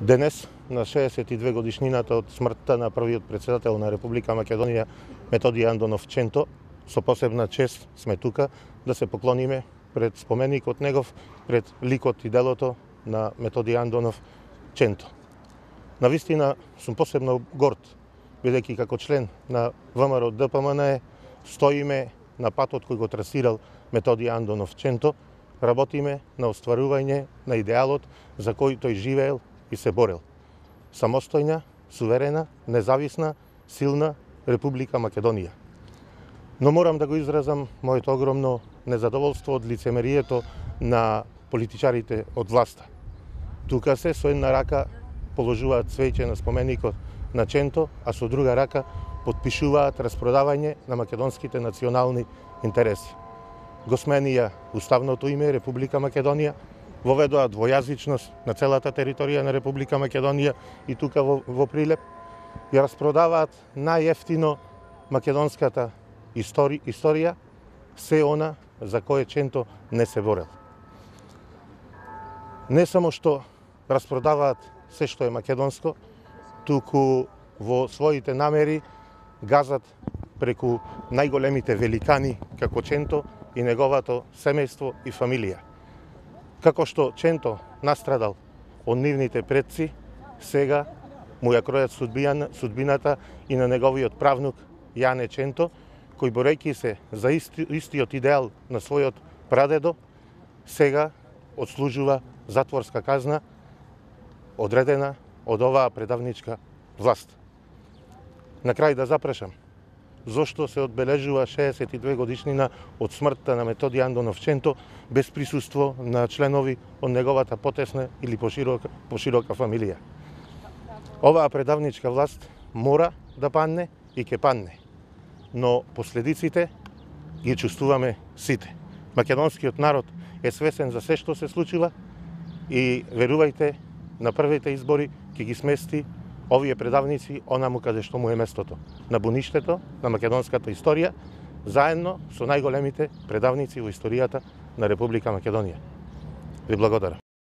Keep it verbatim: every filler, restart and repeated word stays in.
Денес, на шеесет и две годишнината од смртта на првиот претседател на Република Македонија, Методи Андонов Ченто, со посебна чест сме тука да се поклониме пред споменикот негов, пред ликот и делото на Методи Андонов Ченто. Навистина сум посебно горд, бидејќи како член на ВМРО Д П М Н Е стоиме на патот кој го трасирал Методи Андонов Ченто, работиме на остварување на идеалот за кој тој живеел и се борел. Самостојна, суверена, независна, силна Република Македонија. Но морам да го изразам моето огромно незадоволство од лицемерието на политичарите од власта. Тука се со една рака положуваат цвеќе на споменикот на Ченто, а со друга рака потпишуваат распродавање на македонските национални интереси. Го сменија уставното име Република Македонија, воведоа двојазичност на целата територија на Република Македонија и тука во, во Прилеп, ја распродаваат најефтино македонската истори, историја, се она за кое Ченто не се борел. Не само што распродаваат се што е македонско, туку во своите намери газат преку најголемите великани како Ченто и неговото семејство и фамилија. Како што Ченто настрадал од нивните предци, сега му ја кројат судбината и на неговиот правнук Јане Ченто, кој борејќи се за исти, истиот идеал на својот прадедо, сега одслужува затворска казна одредена од оваа предавничка власт. На крај да запрашам, зошто се одбележува шеесет и две годишнина од смртта на Методи Андонов Ченто без присуство на членови од неговата потесна или поширока, поширока фамилија. Оваа предавничка власт мора да падне и ќе падне, но последиците ги чувствуваме сите. Македонскиот народ е свесен за се што се случува и верувајте, на првите избори ќе ги смести овие предавници онаму каде што му е местото, на буништето на македонската историја, заедно со најголемите предавници во историјата на Република Македонија. Ви благодарам.